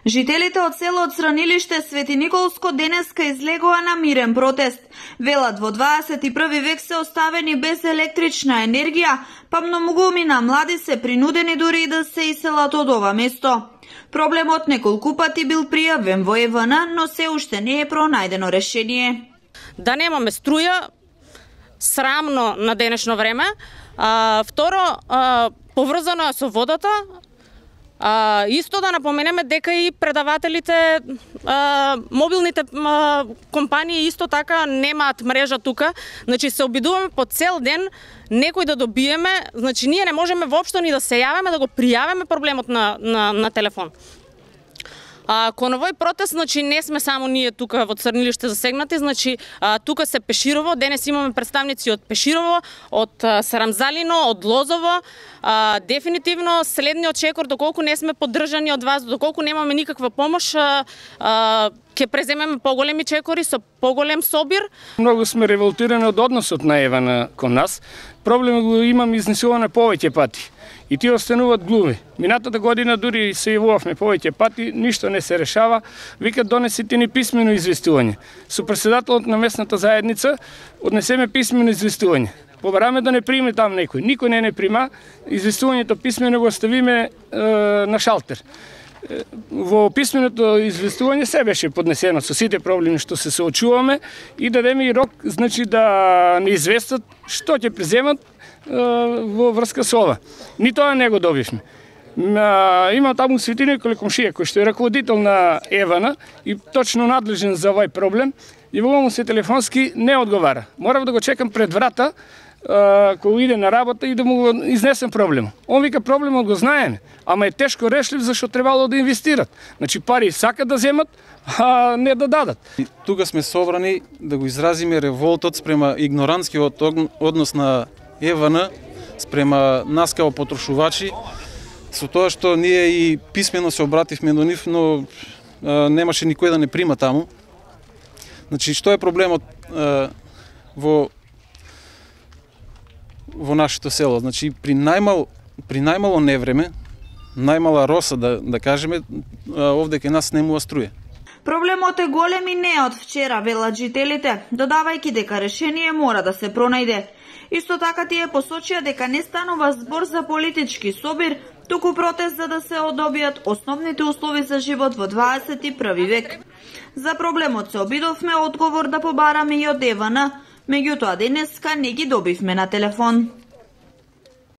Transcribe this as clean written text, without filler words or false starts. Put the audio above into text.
Жителите од селот Цранилиште Свети Николско денеска излегоа на мирен протест. Велат во 21 век се оставени без електрична енергија, па многумина млади се принудени дури и да се иселат од ова место. Проблемот неколку пати бил пријавен во ЕВН, но се уште не е пронајдено решение. Да немаме струја, срамно на денешно време. Второ, поврзано со водата. Исто да напоменеме дека и предавателите, мобилните компании исто така немаат мрежа тука. Значи се обидуваме по цел ден некој да добиеме, значи ние не можеме воопшто ни да се јавиме да го пријавиме проблемот на телефон. Кон овој протест, значи не сме само ние тука во Црнилиште засегнати, значи тука се Пеширово, денес имаме представници од Пеширово, од Сарамзалино, од Лозово. Дефинитивно следниот чекор, доколку не сме поддржани од вас, доколку немаме никаква помош, ќе преземеме поголеми чекори со поголем собир. Многу сме револтирани од односот на ЕВН кон нас. Проблем го имам изнесуване повеќе пати. И тие остануваат глуви. Минатата година дури се јавувавме повеќе пати, ништо не се решава. Викат донесите ни писмено известување. Со председателот на местната заедница однесеме писмено известување. Побараме да не приме там некој. Никој не прима. Известувањето писмено го оставиме на шалтер. Во писменото известување се беше поднесено со сите проблеми што се соочуваме и дадеме и рок, значи да не известат што ќе преземат во врска со ова. Ни тоа не го добивме. Имам таму Свети Николе комшија кој што е раководител на ЕВН и точно надлежен за овој проблем, и во му се телефонски не одговара. Морав да го чекам пред врата кога иде на работа и да му го изнесем проблем. Он вика проблемот го знаеме, ама е тешко решлив зашто требало да инвестират. Значи пари сакат да земат, а не да дадат. Тука сме собрани да го изразиме револтот спрема игнорантскиот однос на ЕВН спрема нас као потрошувачи, со тоа што ние и писмено се обративме до нив, но немаше никој да не прима таму. Значи, што е проблемот во нашето село? Значи, при најмало невреме, најмала роса, да кажеме, овде кај нас немува струја. Проблемот е голем и не од вчера, велат жителите, додавајќи дека решение мора да се пронајде. Исто така тие посочија дека не станува збор за политички собир, туку протест за да се одобијат основните услови за живот во 21 век. За проблемот се обидовме одговор да побараме и од ЕВН, меѓутоа денеска не ги добивме на телефон.